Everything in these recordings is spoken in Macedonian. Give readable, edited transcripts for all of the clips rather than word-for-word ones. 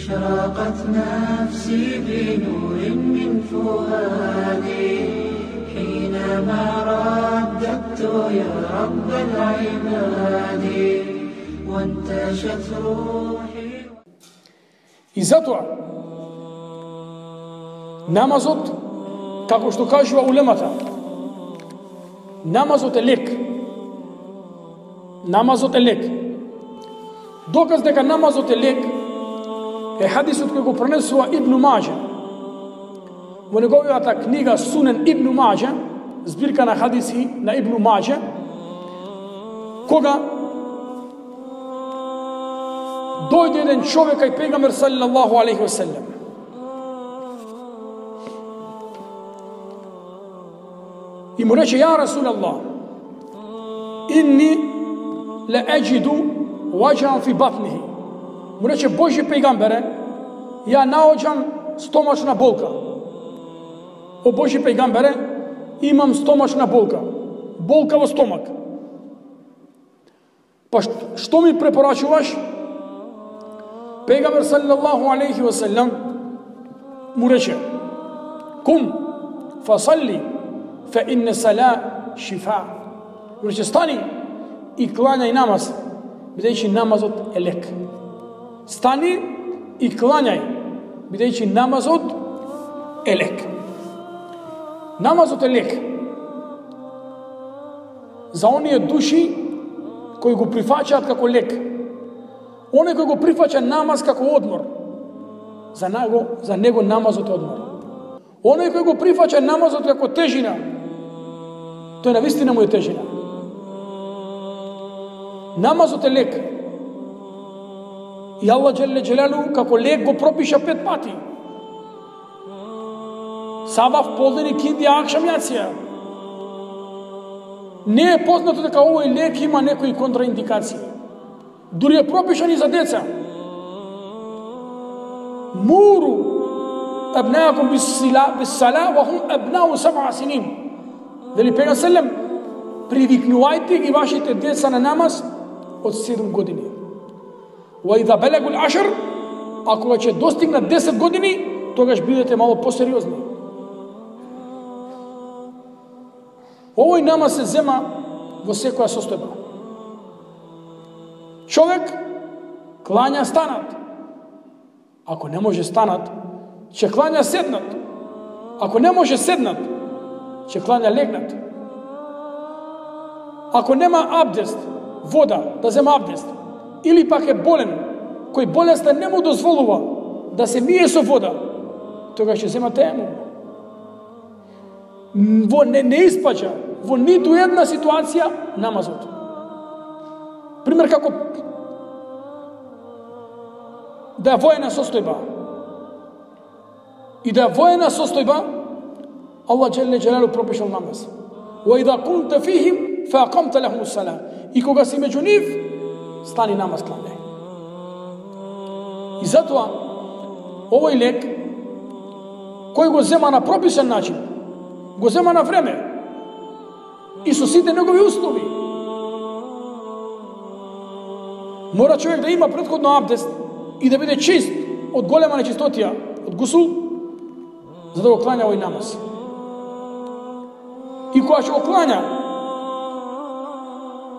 أشرقت نفسي بنور من فؤادي حينما رددت يا رب العباد وانتشت روحي. И затоа намазот, како што кажува улемата, намазот е лек. Намазот е лек. Доказ дека намазот е лек е хадисот кој го пренесува Ибн Маџа во неговата книга Сунен Ибн Маџа, збирка на хадиси на Ибн Маџа, кога дојде еден човек кај пегамбер саллаллаху алейхи ва селлем. И му рече: ја Расулаллах, inni la ajidu wajan fi batnihi. Му рече: Божи пегамбере, ја наоѓам стомачна болка. О Божи пегамбере, имам стомачна болка. Болка во стомак. Па што ми препорачуваш? Пегамбер саллаллаху алейхи ва селлем му рече: Кум фасалли фа инне сала шифа. Му рече: стани и клањај намаз, бидејќи намазот е лек. Стани и клањај, бидејќи намазот е лек. Намазот е лек за оние души кои го прифаќаат како лек. Оној кој го прифаќа намаз како одмор, за него намазот е одмор. Оној кој го прифаќа намазот како тежина, тој навистина му е тежина. Намазот е лек. И Аллах Джелле Джелалу како лек го пропиша 5 пати. Сабах, полден, кинди, акшам, јација. Не е познато дека овој лек има некои контраиндикации. Дури е пропишан и за деца. Муру абнаакум бис-сала ва хум абнау 7 синин. Вели пегамбер селем: привикнувајте ги вашите деца на намаз од 7 години. Ва иза балагул 10, ако ќе достигнат 10 години, тогаш бидете мало посериозни. Овој намаз се зема во секоја состојба. Човек клања станат. Ако не може станат, ќе клања седнат. Ако не може седнат, ќе клања легнат. Ако нема абдест, вода, да зема абдест, или пак е болен, кој болеста не му дозволува да се мие со вода, тогаш ќе зема тејамум. Во не испаѓа во ниту една ситуација намазот. Пример, како да е воена состојба. И да е воена состојба, Аллах Джелле Джелалу пропишал намаз. Ва иза кунте фихим фа акамте лахум ус-сала. И кога си меѓу нив, стани намаз клањај. И затоа овој лек кој го зема на прописан начин, го зема на време и со сите негови услови. Мора човек да има претходно абдест и да биде чист од голема нечистотија, од гусул, за да го клања овој намаз. И кога ќе го клања,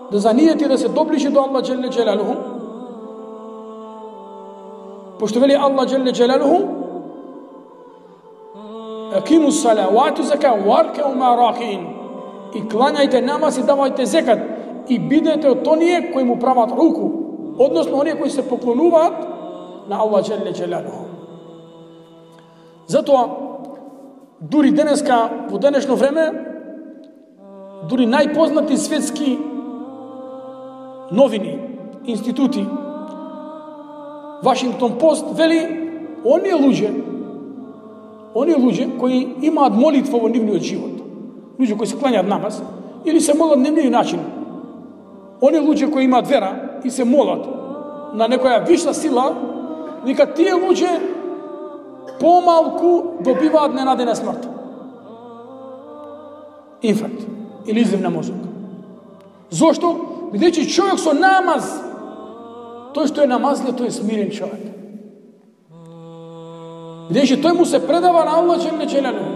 да занијети да се доближи до Аллах Джелле Джелалуху, пошто вели Аллах Джелле Джелалуху: Акиму сала ва ату зака варкеу ма ракин. И клањајте намаз и давајте зекат и бидете од оние кои му прават руку, односно оние кои се поклонуваат на Аллах Джелле Джелалуху. Затоа дури денеска, во денешно време, дури најпознати светски новини, институти, Вашингтон Пост вели оние луѓе кои имаат молитва во нивниот живот, луѓе кои се клањаат намаз или се молат на нивниот начин, оние луѓе кои имаат вера и се молат на некоја виша сила, вика тие луѓе помалку добиваат ненадена смрт, инфаркт или излив на мозок. Зошто? Бидејќи човек со намаз, тој што е намазлив, тој е смирен човек. Бидејќи тој му се предава на Аллах џеле џелалу.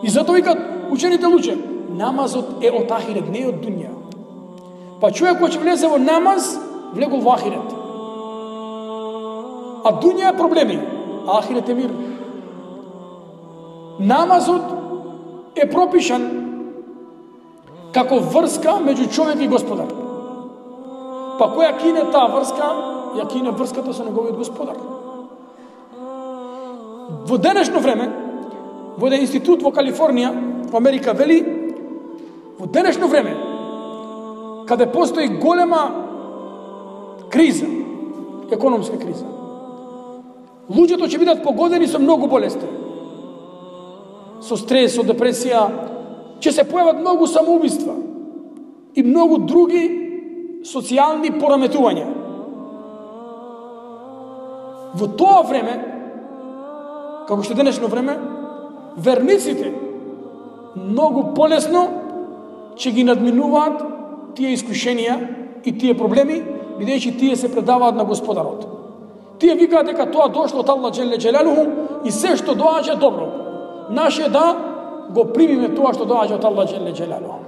И затоа викат учените луѓе, намазот е од ахирет, не е од дуња. Па човек кој ќе влезе во намаз, влегол во ахирет. А дуња е проблеми, а ахирет е мир. Намазот е пропишан како врска меѓу човек и Господар. Па која кине таа врска, ја кине врската со неговиот Господар. Во денешно време, во еден институт во Калифорнија, во Америка, вели, во денешно време, каде постои голема криза, економска криза, луѓето ќе бидат погодени со многу болести, со стрес, со депресија, ќе се појават многу самоубиства и многу други социјални пораметувања. Во тоа време, како што денешно време, верниците многу полесно ќе ги надминуваат тие искушенија и тие проблеми, бидејќи тие се предаваат на Господарот. Тие викаат дека тоа дошло од Аллах џеле џелалуху и се што доаѓа добро. Наше е да го примиме тоа што доаѓа од Аллах џеле џелалуху.